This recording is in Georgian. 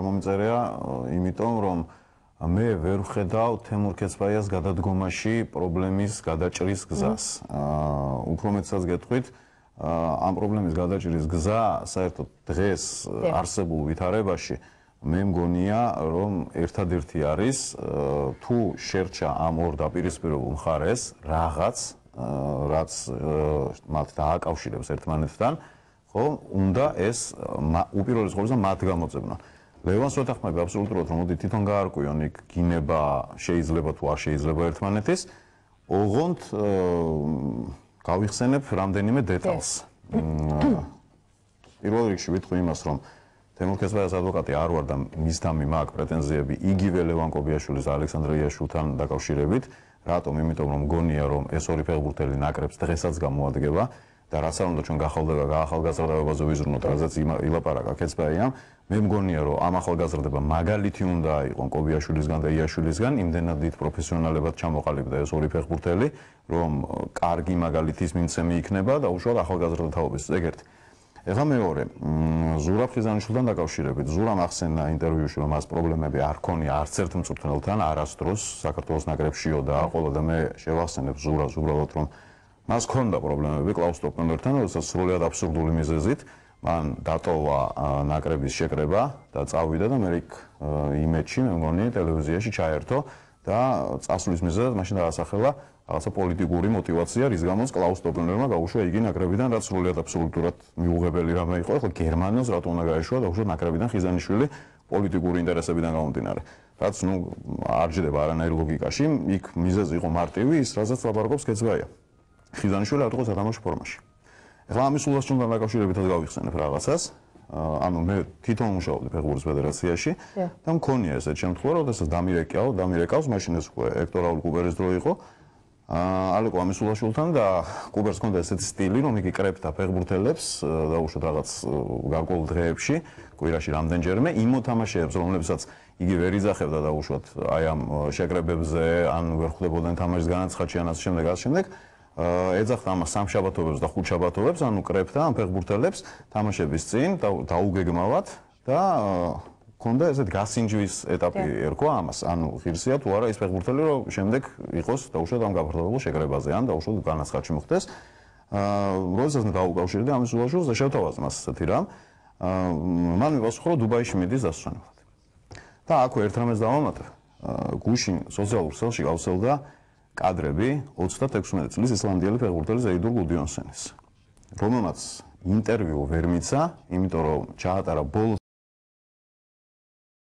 მომიწერია, იმიტომ რომ მე ვერ ვხედავ თემურ ქეცბაიას გადადგომაში პრობლემის გადაჭრის გზას. უფრო მეტსაც გეტყვით, ამ პრობლემის გადაჭრის გზა საერთოდ დღეს არსებულ ვითარებაში მე მგონია, რომ ერთადერთი არის თუ შერჩა ამ ორ დაპირისპირებულ მხარეს რაღაც, რაც მათ დააკავშირებს ერთმანეთთან, ხო, უნდა ეს უპირველეს ყოვლისა მათ გამოძებნა. ლევანს ვეთანხმები აბსოლუტურად, რომ მოდი თვითონ გაარკვიონ იქ გინება შეიძლება თუ არ შეიძლება ერთმანეთის, ოღონდ გავიხსენებ რამდენიმე დეტალს. პირველ რიგში ვიტყვი იმას, რომ თემურ ქეცბაიას ადვოკატი არ ვარ და მისდამი მაქვს პრეტენზიები იგივე ლევან კობიაშვილის და ალექსანდრე იაშვილთან დაკავშირებით. რატომ? იმიტომ რომ მგონია, რომ ეს ორი ფეხბურთელი ნაკრებს დღესაც გამოადგება და რაც არ უნდა ჩვენ გაახალგაზრდებაზე ვიზრუნოთ, რაზეც ილაპარაკა ქეცბაიამ, მე მგონია, რომ ამ ახალგაზრდება მაგალითი უნდა აიყონ კობიაშვილისგან და იაშვილისგან, იმდენად დიდ პროფესიონალებად ჩამოყალიბდა ეს ორი ფეხბურთელი, რომ კარგი მაგალითის მიმცემი იქნება და უშუალოდ ახალგაზრდა თაობის ეგერთი. ეხლა მეორე, ზურაბ ხიზანიშვილთან დაკავშირებით. ზურამ ახსენა ინტერვიუში, რომ მას პრობლემები არ ქონია არც ერთ მწვრთნელთან არასდროს საქართველოს ნაკრებშიო და აყოლა და მე შევახსენებ ზურაბს უბრალოდ, რომ მას ქონდა პრობლემები კლაუს სტოპენერთან, როდესაც სრულიად აბსურდული მიზეზით მან დატოვა ნაკრების შეკრება და წავიდა და მე იმეჩი, მე მგონი ტელევიზიაში ჩაერთო და წასვლის მიზეზად მაშინ დაასახელა რაღაცა პოლიტიკური мотиваცია, რის გამოც კლაუს სტოპენერმა გაუშვა იგი ნაკრებიდან, რაც სრულიად აბსოლუტურად მიუღებელი რამე იყო. ეხლა გერმანელს რატომ უნდა გაეშვა და უშვა ნაკრებიდან ხიზანიშვილი პოლიტიკური ინტერესებიდან გამომდინარე. რაც არ ჯდება არანაირ ლოგიკაში, იქ მიზეზი იყო მარტივი, ის რასაც ლაპარაკობს ქეცბაია. ხიზანიშვილი არ იყო სათამაშო ფორმაში. ეხლა ამის ულასჭონთან დაკავშირებითაც გავიხსენებ რაღაცას. ანუ მე თვითონ მუშაობდი ფეხბურთის ფედერაციაში და მქონია ესეთ შემთხვევა, როდესაც დამირეკავს, მაშინ ეს უკვე ექტორ რაულ კუბერის დრო იყო. ალეკო ამისულაშვილთან და კუბერს ჰქონდა ესეთი სტილი, რომ იგი კრებდა ფეხბურთელებს და უშუალოდ რაღაც გარკვეულ დღეებში, კვირაში რამდენჯერმე იმ მოთამაშეებს, რომლებსაც იგი ვერ იძახებდა და უშუალოდ აი ამ შეკრებებზე ან ვერ ხვდებოდნენ თამაშის განაცხადში ან ასე შემდეგ, ეძახდა ამას სამშაბათობებს და ხუთშაბათობებს, ანუ კრებდა ამ ფეხბურთელებს თამაშების წინ დაუგეგმავად და ქონდა ესეთ გასინჯვის ეტაპი ერქვა ამას, ანუ ღირსია თუ არა ის ფეხბურთელი, რომ შემდეგ იყოს დაუშვათ ამ გაფართოებულ შეკრებაზე, ან დაუშვათ განაცხადში მოხდეს. როდესაც დაუკავშირდა ამის ულაშვილს და შევთავაზ მას ესეთი რამ, მან მიპასუხა, რომ დუბაიში მიდის დასვენებლად. და აქვე ერთ რამეს დავამატებ, გუშინ სოციალურ ქსელში გავსელდა კადრები 36 წლის ისლანდიელი ფეხბურთელის ეიდურ გუდიონსენის, რომელმაც ინტერვიუ ვერ მიცა, იმიტომ რომ ჩაატარა ბოლო